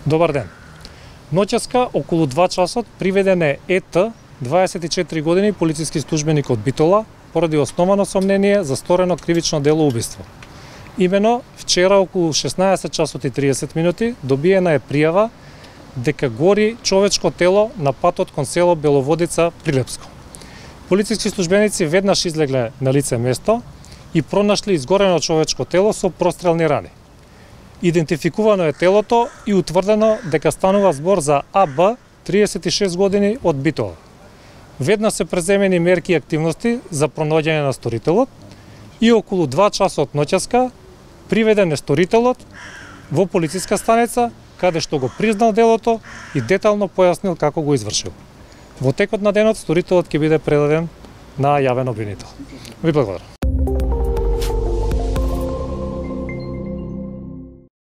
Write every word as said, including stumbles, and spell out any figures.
Добар ден. Ноќеска околу два часот приведен е Е Т, дваесет и четири години, полициски службеник од Битола, поради основано сомнение за сторено кривично дело убиство. Имено, вчера околу шеснаесет часот и триесет минути добиена е пријава дека гори човечко тело на патот кон село Беловодица, Прилепско. Полициски службеници веднаш излегле на лице место и пронашли изгорено човечко тело со прострелни рани. Идентификувано е телото и утврдено дека станува збор за А Б, триесет и шест години, од Битола. Веднаш се преземени мерки и активности за пронаѓање на сторителот и околу два часот ноќеска приведен е сторителот во полициска станица, каде што го признал делото и детално појаснил како го извршил. Во текот на денот сторителот ќе биде предаден на јавен обвинител. Ви благодарам.